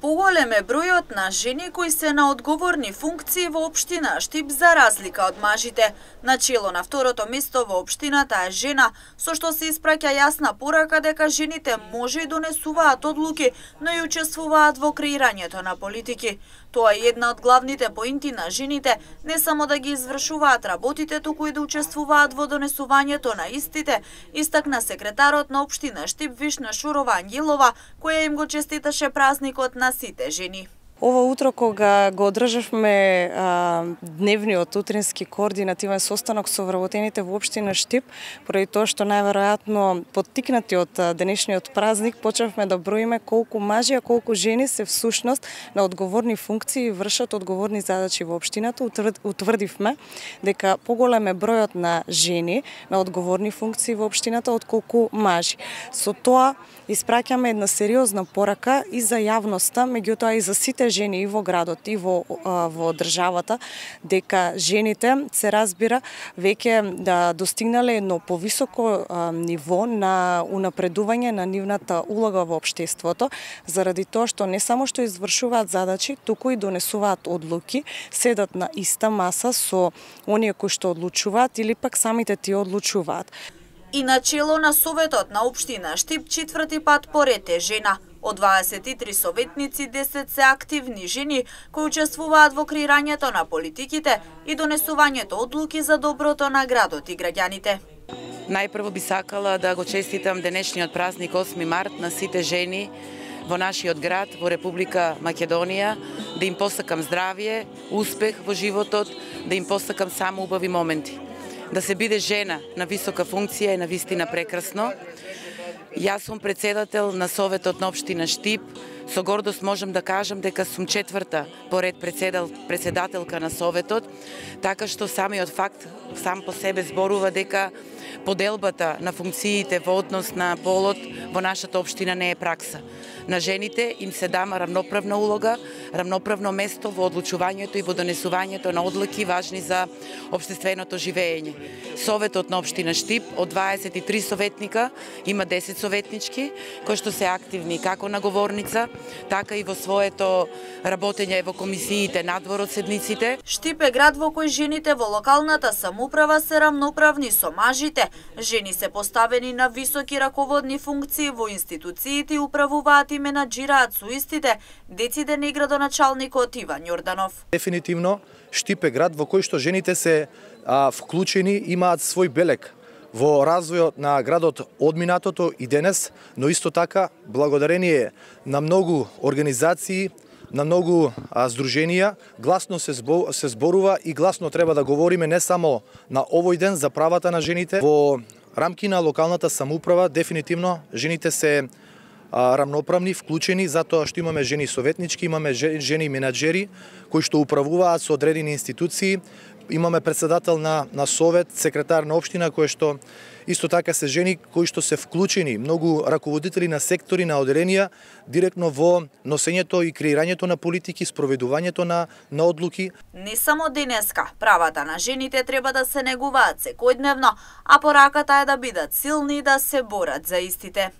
Поголем е бројот на жени кои се на одговорни функции во општина Штип за разлика од мажите. Начело на второто место во општината е жена, со што се испраќа јасна порака дека жените може и донесуваат одлуки, но и учествуваат во креирањето на политики. Тоа е една од главните поинти на жените, не само да ги извршуваат работите, туку и да учествуваат во донесувањето на истите, истакна секретарот на општина Штип Вишна Шурова Ангелова, која им го честиташе празникот на сите жени. Ова утро кога го одржавме дневниот утрински координативен состанок со вработените во општина Штип, поради тоа што најверојатно поттикнати од денешниот празник почнавме да броиме колку мажи, а колку жени се всушност на одговорни функции и вршат одговорни задачи во општината. Утврдивме дека поголем е бројот на жени на одговорни функции во општината отколку мажи. Со тоа испраќаме една сериозна порака и за јавноста, меѓутоа и за сите жени и во градот и во државата, дека жените се разбира веќе да достигнале едно повисоко ниво на унапредување на нивната улога во општеството, заради тоа што не само што извршуваат задачи, туку и донесуваат одлуки, седат на иста маса со оние кои што одлучуваат или пак самите тие одлучуваат. И начело на Советот на општина Штип четврти пат поред е жена. Од 23 советници, 10 се активни жени кои учествуваат во креирањето на политиките и донесувањето одлуки за доброто на градот и граѓаните. Најпрво би сакала да го честитам денешниот празник 8 март на сите жени во нашиот град, во Република Македонија, да им посакам здравје, успех во животот, да им посакам само убави моменти. Да се биде жена на висока функција е навистина прекрасно. Јас сум председател на Советот на општина Штип. Со гордост можам да кажам дека сум четврта поред председателка на Советот, така што самиот факт сам по себе зборува дека поделбата на функциите во однос на полот во нашата општина не е пракса. На жените им се дава рамноправна улога, рамноправно место во одлучувањето и во донесувањето на одлуки важни за општественото живење. Советот на општина Штип од 23 советника има 10 советнички кои што се активни како наговорница, така и во своето работење во комисиите надвор од седниците. Штип е град во кој жените во локалната самоуправа се рамноправни со мажите. Жени се поставени на високи раководни функции во институциите и управуваат и менаџираат со истите, деците на градоначалникот Иван Јорданов. Дефинитивно Штип е град во кој што жените се вклучени, имаат свој белег во развојот на градот од минатото и денес, но исто така благодарение на многу организации, на многу здруженија, гласно се зборува и гласно треба да говориме не само на овој ден за правата на жените. Во рамки на локалната самоуправа дефинитивно жените се рамноправни, вклучени, затоа што имаме жени советнички, имаме жени менаџери кои што управуваат со одредени институции, имаме председател на совет, секретар на општина кои што исто така се жени кои што се вклучени, многу раководители на сектори, на оделенија, директно во носењето и креирањето на политики, спроведувањето на одлуки. Не само денеска, правата на жените треба да се негуваат секојдневно, а пораката е да бидат силни и да се борат за истите.